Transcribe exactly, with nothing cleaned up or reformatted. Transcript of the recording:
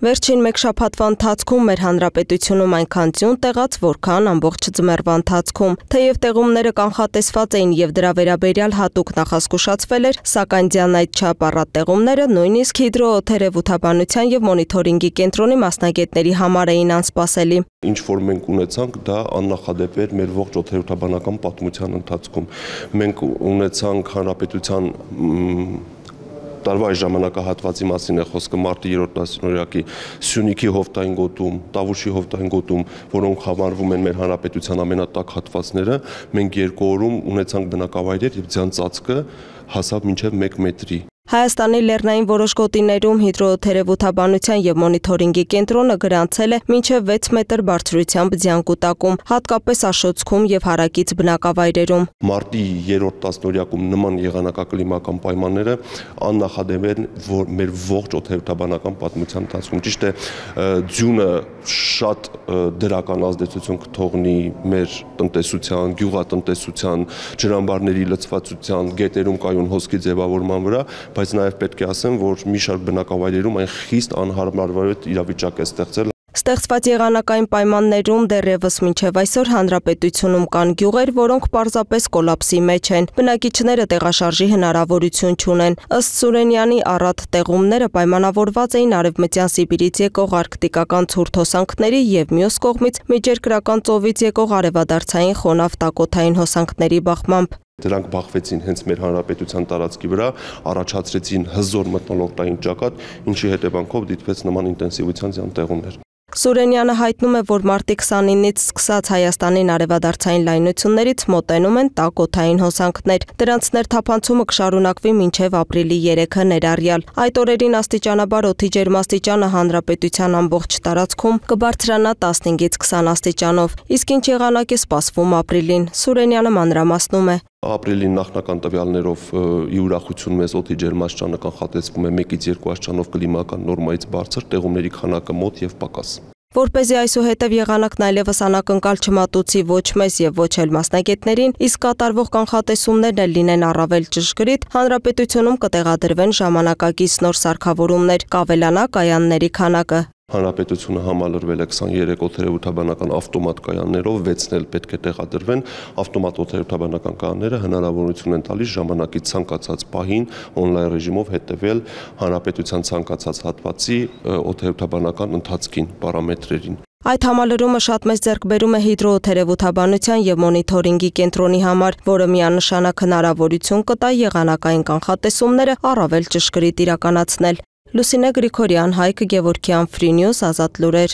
Վերջին մեկ շաբաթվա ընթացքում մեր հանրապետությունում այնքան ձյուն տեղաց, որքան ամբողջ ձմեռվա ընթացքում։ Թեև տեղումները կանխատեսված էին եւ դրա վերաբերյալ հատուկ նախազգուշացվել էր, սակայն ձյան այդ չափ առատ տեղումները նույնիսկ հիդրոթերապևտաբանության եւ մոնիթորինգի կենտրոնի մասնագետների համար էին անսպասելի։ Ինչ որ մենք ունեցանք, դա աննախադեպ էր մեր ողջ օդերևութաբանական պատմության ընթացքում։ Մենք ունեցանք հանրապետության տարվա այս ժամանակահատվածի մասին է խոսքը մարտի երրորդ դասնօրյակի Սյունիքի հովտային գոտում, Տավուշի հովտային գոտում, որոնք համարվում են մեր հանրապետության ամենատաք հատվածները, մենք երկու օրում ունեցանք բնակավայրեր եւ ձյան ծածկը հասավ մինչեւ մեկ մետրի։ Հայաստանի լեռնային որոշ գոտիներում հիդրոթերապևտաբանության եւ մոնիթորինգի կենտրոնը գրանցել է մինչեւ վեց մետր բարձրությամբ ձյան կուտակում, հատկապես Աշոցքում եւ հարակից բնակավայրերում։ Մարտի երրորդ տասնօրյակում նման եղանակակլիմական պայմանները աննախադեպ են, որ մեր ողջ օդերևութաբանական պատմության ընթացքում ճիշտ է ձյունը շատ դրական ազդեցություն կթողնի մեր տնտեսության, գյուղատնտեսության, ջրամբարների լցվածության, գետերում կայուն հոսքի ձևավորման վրա, բայց նաև պետք է ասեմ, որ մի շարք բնակավայրերում այն խիստ անհարմարվետ իրավիճակ է ստեղծել։ Ստեղծված եղանակային պայմաններում դեռևս մինչև այսօր հանրապետությունում կան գյուղեր, որոնք պարզապես կոլապսի մեջ են։ Բնակիչները տեղաշարժի հնարավորություն չունեն։ Ըստ Սուրենյանի առատ տեղումները պայմանավորված էին արևմտյան Սիբիրից եկող արկտիկական ցուրտ հոսանքների եւ մյուս կողմից միջերկրական ծովից եկող արևադարձային խոնավ տակոթային հոսանքների բախմամբ։ Դրանք բախվեցին հենց մեր հանրապետության տարածքի վրա, առաջացրեցին հզոր մթնոլորտային ճակատ, ինչի հետևանքով դիտվեց նման ինտենսիվության ձյան տեղումներ։ Սուրենյանը հայտնում է, որ մարտի քսանինից սկսած Հայաստանին արևադարձային լայնություններից մոտենում են տաք օդային հոսանքներ։ Դրանց ներթափանցումը կշարունակվի մինչև ապրիլի երեքը ներառյալ։ Այդ օրերին աստիճանաբար օդի ջերմաստիճանը հանրապետության ամբողջ տարածքում կբարձրանա տասնհինգից քսան աստիճանով։ Իսկ ինչ եղանակ է սպասվում ապրիլին, Սուրենյանը մանրամասնում է։ Ապրիլի նախնական տվյալներով ի ուրախություն մեզ օդի ջերմաստիճանը կանխատեսվում է մեկից երկու աստիճանով կլիմական նորմայից բարձր, տեղումների քանակը մոտ եւ պակաս։ Որպեսզի այսուհետև եղանակն այլևս անակնկալ չմատուցի ոչ մեզ եւ ոչ էլ մասնագետներին, իսկ կատարվող կանխատեսումներն էլ լինեն առավել ճշգրիտ, հանրապետությունում կտեղադրվեն ժամանակակից նոր սարքավորումներ, կավելանա կայանների քանակը։ Հանրապետությունը համալրվել է քսաներեք օդերևութաբանական ավտոմատ կայաններով, վեցն էլ պետք է տեղադրվեն։ Ավտոմատ օդերևութաբանական կայանները հնարավորություն են տալիս ժամանակի ցանկացած պահին օնլայն ռեժիմով հետևել հանրապետության ցանկացած հատվածի օդերևութաբանական ընթացքին, պարամետրերին։ Այդ համալրումը շատ մեծ ձեռքբերում է հիդրոթերապևտաբանության եւ մոնիթորինգի կենտրոնի համար, որը միանշանակ հնարավորություն կտա եղանակային կանխատեսումները առավել ճշգրիտ իրականացնել։ Լուսինե Գրիգորյան, Հայկ Գևորգյան, Free News, Ազատ լուրեր։